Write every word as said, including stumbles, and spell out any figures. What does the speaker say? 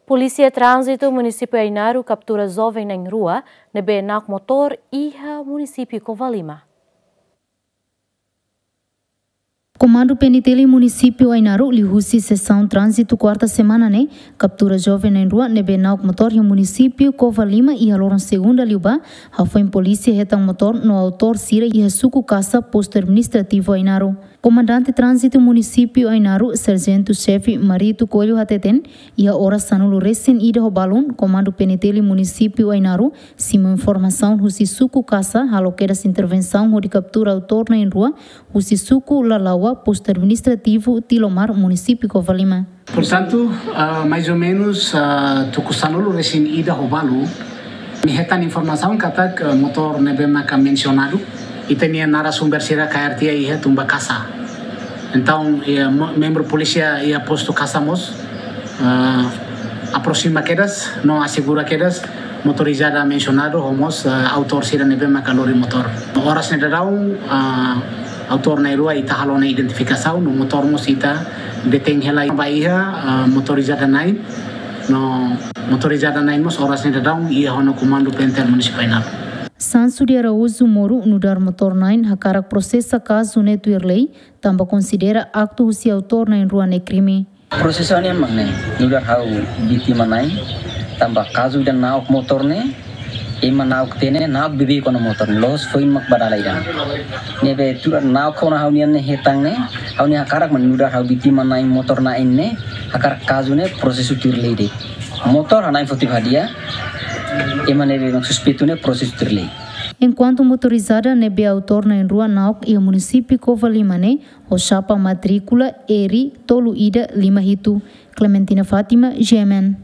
Polísia Tránzitu Munisípiu Ainaro kaptura joven na'in rua ne'ebé na'ok motór iha Munisípiu Covalima. Komandu P N T L Munisípiu Ainaro liuhusi Sesaun Tránzitu Kuarta semana ne'e kaptura joven na'in rua ne'ebé na'ok motór iha Munisípiu Covalima iha loron Segunda liubá, hafoin polísia hetan motór no autór sira iha suku Kasa, Postu Administrativu Ainaro. Komandante Tránzitu Munisípiu Ainaro, Sarjentu Xefe Marito Coelho hateten, iha oras sanulu resin ida ho balun, Komandu P N T L Munisípiu Ainaro simu informasaun husi suku Kasa halo kedas intervensaun hodi kaptura autór na'in rua husi suku Lalaua, Postu Administrativu Tilomar, Munisípiu Covalima. Portantu, ah, mais ou menus, ah, tuku sanulu resin ida ho balu, ami hetan informasaun katak, ah, motór ne'ebé maka mensionadu, ita-nia narasumber sira kaer tiha iha tumba Kasa. Entaun, iha mo-, membru polísia iha postu Kasa mós, ah, aproxima kedas, no asegura kedas motorizada mensionadu ho mós, ah, autór sira ne'ebé maka lori motór. Oras ne'e daudaun, ah, autór na'in rua ita halo ona identifikasaun, no motór mós ita detein hela ba iha, ah, motorizada na'in, no motorizada na'in mós oras ne'e daudaun iha ona komandu P N T L Munisípiu Ainaro. Sansu de Araújo Moro, nu'udar motór na'in, hakarak prosesa kazu ne'e tuir lei, tanba konsidera aktu husi autór na'in rua ne'e krime. Prosesu ne'e mak ne'e, nu'udar ha'u vítima na'in, tanba kazu ida na'ok motór ne'e, ema na'ok tiha ne'e, na'ok beibeik ona motór ne'e, loos foin mak ba dala ida. Ne'ebé tuir na'ok ona ha'u-nian ne'e hetan ne'e, ha'u-nian hakarak mak nu'udar ha'u vítima na'in motór na'in ne'e, hakarak kazu ne'e prosesu tuir lei de'it. Motór ha'u na'in foti hadi'a, ema ne'ebé mak suspeitu ne'e prosesu tuir lei. Enkuantu motorizada ne'ebé autór na'in rua na'ok iha Munisípiu Covalima ne'e, ho xapa matríkula R tolu ida lima hitu. Clementina Fátima, G M N.